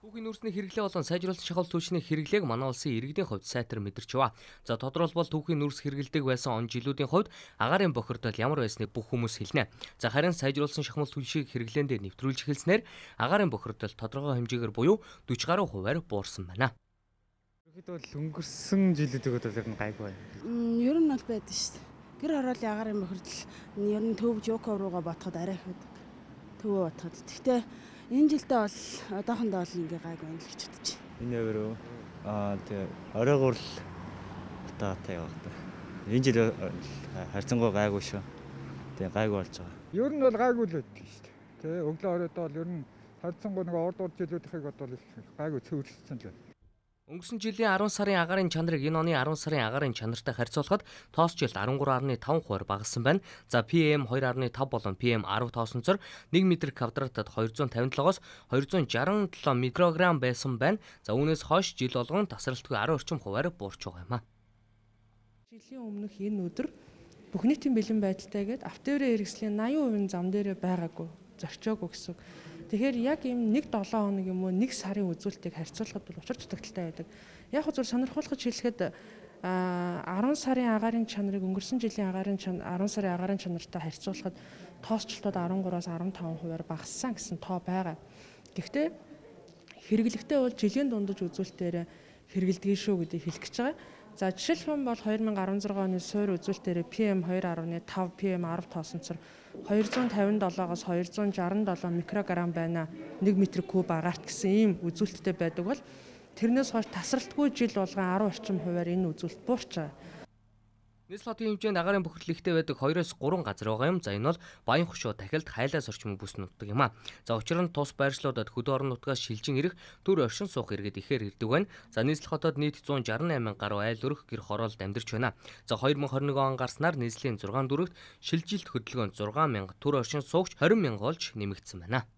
Түүхийн нүүрсний хэрэглээ болон сайжруулсан шахал түвшний хэрэглээг манай улсын иргэдийн хувьд сайтар мэдэрч байна. За тодорхойлбол түүхийн нүүрс хэрэглэдэг байсан он жилүүдийн хувьд агаарын бохирдол ямар байсныг бүх хүмүүс хэлнэ. За харин сайжруулсан шахмал түвшийг хэрэглээндээ нэвтрүүлж эхэлснээр агаарын бохирдол тодорхой хэмжээгээр буюу 40 гаруй хувиар буурсан байна. Тэгэхэд бол өнгөрсөн жилүүдийн хувьд ер нь гайгүй байна. Ер нь бол байдаг шүү дээ. Гэр хорооллын агаарын бохирдол ер нь төв жоков руугаа ботход арай их байдаг. Төвөө ботход. Гэхдээ энэ жилдээ бол одоохондоо бол ингээ гайгүй байна л гэж бодож байна. Энэ өөрөө тэгээ оройгоор л утаатай явах та. Энэ жил харьцангуй гайгүй шүү. Тэгээ гайгүй болж байгаа. Ер нь бол гайгүй л байдаг шүү дээ. Тэгээ өглөө оройдоо бол ер нь харьцангуй нэг урд жилүүдийнхийг бодвол гайгүй цөөрсөн л байна. Өнгөрсөн жилийн 10 сарын агаарын чанарыг энэ оны 10 сарын агаарын чанартай харьцуулахад тоос жилд 13.5% багассан байна. За PM 2.5 болон PM 10 тоосонцор 1 м квадратад 257-оос 267 микрограмм байсан байна. За үүнээс хойш жил болгон тасралтгүй 10 орчим хувиар буурч байгаа юм а. Жилийн өмнөх энэ өдөр бүх нийтийн бэлэн байдалтайгээд автоэрийн хэрэгслийн 80% зам дээрээ байгаагүй, зөрчөөгүй гэсэн. Тэгэхээр яг ийм 1-7 хоног юм уу 1 сарын үзүүлэлтийг харьцуулахад бол учир дутагдaltaй байдаг. Яг зөв сонирхолтой хэлэхэд 10 сарын агаарын чанарыг өнгөрсөн жилийн 10 сарын агаарын чанартай харьцуулахад тоосчлтууд 13-аас 15%-аар багассан гэсэн тоо байгаа. Гэхдээ хэрэглэхдээ бол жилийн дундаж үзүүлэлтээр хэрэгэлдэг шүү гэдгийг хэлэх гэж байгаа. За жишээлх юм бол 2016 оны суур үзүүлэлтээр PM 2.5 PM 10 тоосонцор 257-оос 267 микрограмм байна. 1 м3 агаарт гэсэн ийм үзүүлэлттэй байдаг бол тэрнээс хойш тасралтгүй жил болгон 10 орчим хувиар энэ үзүүлэлт буурч байгаа. Нийслэл хотын хэмжээнд агаарын бохирдол ихтэй байдаг 2-оос 3 газар байгаа юм. За энэ бол Баян хошуу, Дахилт, Хайлаас орчмын бүс нутаг юм а. За учир нь тус байршлуудад хөдөө орон нутгаас шилжин ирэх төр оршин суух иргэд ихээр ирдэг байна. За нийслэл хотод нийт 168 гаруй айл өрх гэр хороолд амьдарч байна. За 2021 он гарснаар нийслэлийн 6 дүрэгт шилжилт хөдөлгөөнд 6 мянга төр оршин суугч 20 мянга болж нэмэгдсэн байна.